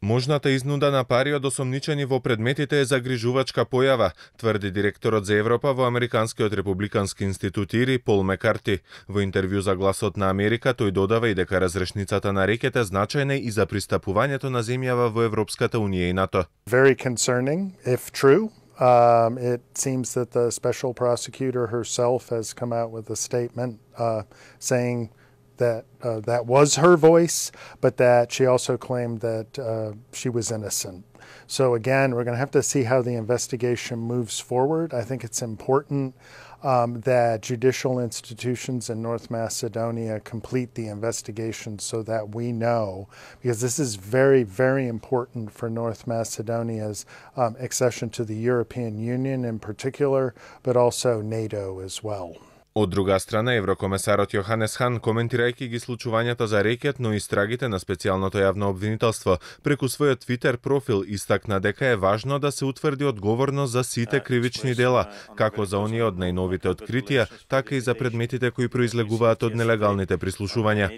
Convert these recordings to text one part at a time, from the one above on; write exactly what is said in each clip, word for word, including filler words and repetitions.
Можната изнуда на пари од осомничени во предметите е загрижувачка појава, тврди директорот за Европа во Американскиот републикански институт ИРИ Пол Мекарти. Во интервју за Гласот на Америка тој додава и дека разрешницата на рекет е значајна и за пристапувањето на земјава во Европската унија и НАТО. Very concerning if true. Um, it seems that the special prosecutor herself has come out with a statement uh, saying that uh, that was her voice, but that she also claimed that uh, she was innocent. So again, we're going to have to see how the investigation moves forward. I think it's important um, that judicial institutions in North Macedonia complete the investigation so that we know, because this is very, very important for North Macedonia's um, accession to the European Union in particular, but also NATO as well. Од друга страна, еврокомесарот Јоханес Хан, коментирајќи ги случувањата за рекет, но и истрагите на специјалното јавно обвинителство, преку својот Твитер профил истакна дека е важно да се утврди одговорност за сите кривични дела, како за оние од најновите откритија, така и за предметите кои произлегуваат од нелегалните прислушувања.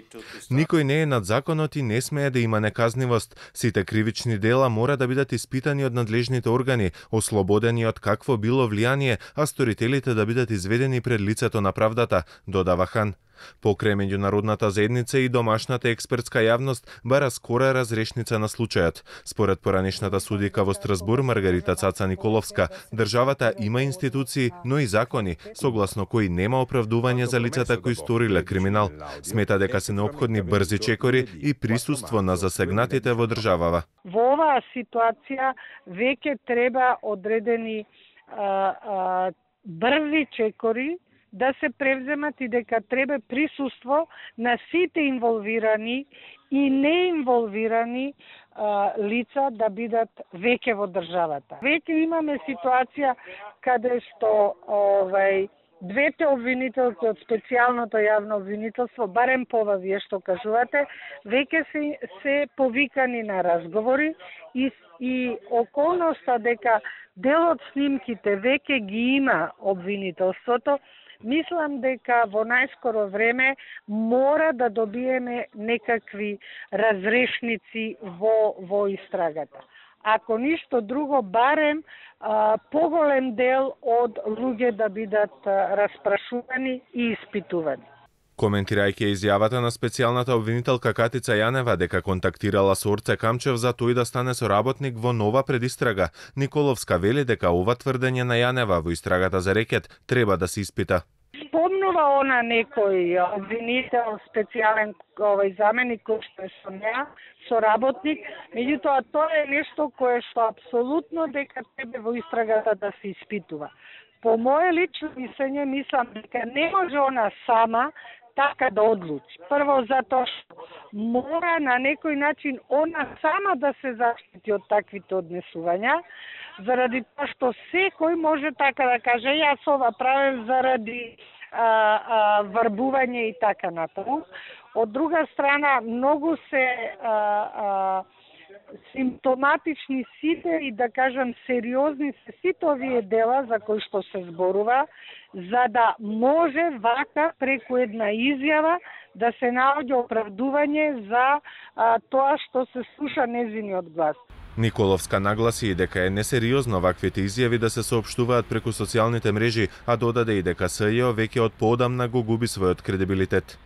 Никој не е над законот и не смее да има неказнивост. Сите кривични дела мора да бидат испитани од надлежните органи, ослободени од какво било влијание, а сторителите да бидат изведени пред лицето на правдата, додава Хан. Покрај меѓународната заедница и домашната експертска јавност бара скора разрешница на случајот. Според поранешната судика во Страсбур Маргарита Цаца Николовска, државата има институции, но и закони, согласно кои нема оправдување за лицата кои сториле криминал. Смета дека се неопходни брзи чекори и присуство на засегнатите во државава. Во оваа ситуација веќе треба одредени а, а, брзи чекори да се превземат и дека треба присуство на сите инволвирани и неинволвирани а, лица да бидат веќе во државата. Веќе имаме ситуација каде што овај двете обвинителки од специјалното јавно обвинителство, барем по ова вие што кажувате, веќе се, се повикани на разговори и, и околноста дека дел од снимките веќе ги има обвинителството, мислам дека во најскоро време мора да добиеме некакви разрешници во, во истрагата. Ако ништо друго, барем а, поголем дел од луѓе да бидат а, распрашувани и испитувани. Коментирајќи изјавата на специјалната обвинителка Катица Јанева дека контактирала со Орце Камчев за тој да стане соработник во нова предистрага, Николовска вели дека ова тврдење на Јанева во истрагата за рекет треба да се испита. Спомнува она некој обвинител, специјален овој заменик кој што е со неа, соработник, меѓутоа тоа е нешто кое што апсолутно дека треба во истрагата да се испитува. По моје лично мислење, мислам дека не може она сама така да одлучи. Прво затоа што мора на некој начин она сама да се заштити од таквите однесувања, заради тоа што секој може така да каже јас ова правев заради а, а, врбување и така натаму. Од друга страна, многу се а, а, симптоматични сите и да кажам сериозни се сите овие дела за кои што се зборува, за да може вака преку една изјава да се наоѓа оправдување за а, тоа што се слуша незиниот глас. Николовска нагласи и дека е несериозно ваквите изјави да се соопштуваат преку социјалните мрежи, а додаде и дека СЈО веќе од поодамна го губи својот кредибилитет.